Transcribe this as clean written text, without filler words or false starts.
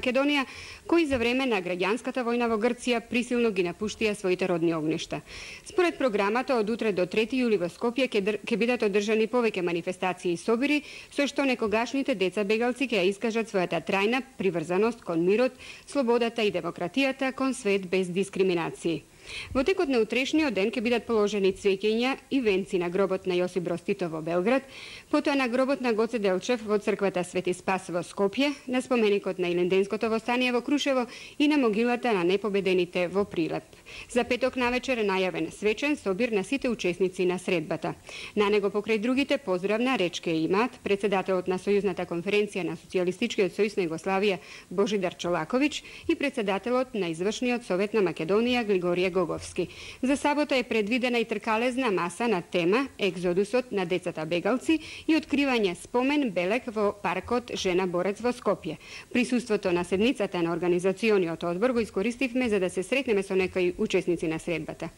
Македонија, кои за време на граѓанската војна во Грција присилно ги напуштија своите родни огништа. Според програмата, од утре до 3 јули во Скопје ќе бидат одржани повеќе манифестации и собири, со што некогашните деца бегалци ќе ја искажат својата трајна приврзаност кон мирот, слободата и демократијата, кон свет без дискриминации. Во текот на утрешниот ден ќе бидат положени цвеќиња и венци на гробот на Јосип Броз Тито во Белград, потоа на гробот на Гоце Делчев во црквата Свети Спас во Скопје, на споменикот на Илинденското востание во Крушево и на могилата на непобедените во Прилеп. За петок навечер е најавен свечен собир на сите учесници на средбата. На него покрај другите поздравна реч ќе имаат председателот на Сојузната конференција на Социјалистичкиот сојуз на Југославија Божидар Чолаковиќ и председателот на Извршниот совет на Македонија Глигорија Гоговски. За сабота е предвидена и тркалезна маса на тема Екзодусот на децата бегалци и откривање спомен белег во паркот Жена Борец во Скопје. Присуството на седницата на организациониот одбор го искористивме за да се сретнеме со некои учесници на средбата.